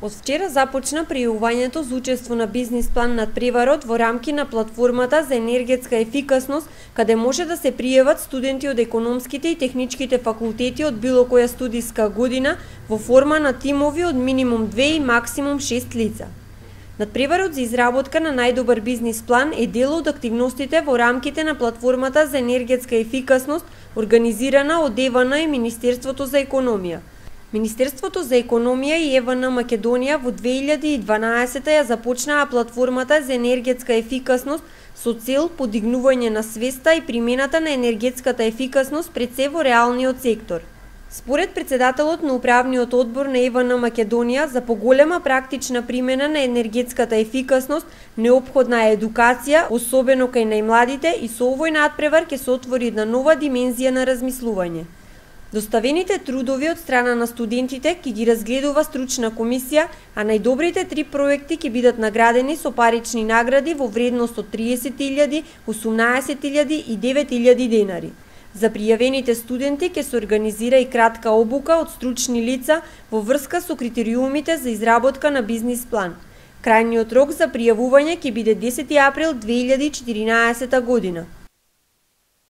Од вчера започна пријавувањето за учество на бизнис план надпреварот во рамки на платформата за енергетска ефикасност, каде може да се пријават студенти од економските и техничките факултети од било која студиска година во форма на тимови од минимум 2 и максимум 6 лица. Надпреварот за изработка на најдобар бизнис план е дел од активностите во рамките на платформата за енергетска ефикасност, организирана од ЕВН и Министерството за економија. Министерството за економија и ЕВН Македонија во 2012 ја започнаа платформата за енергетска ефикасност со цел подигнување на свеста и примената на енергетската ефикасност пред се во реалниот сектор. Според председателот на управниот одбор на ЕВН Македонија, за поголема практична примена на енергетската ефикасност неопходна е едукација, особено кај најмладите, и со овој надпревар ќе се отвори една нова димензија на размислување. Доставените трудови од страна на студентите ќе ги разгледува стручна комисија, а најдобрите 3 проекти ќе бидат наградени со парични награди во вредност од 30.000, 18.000 и 9.000 денари. За пријавените студенти ќе се организира и кратка обука од стручни лица во врска со критериумите за изработка на бизнис план. Крајниот рок за пријавување ќе биде 10 април 2014 година.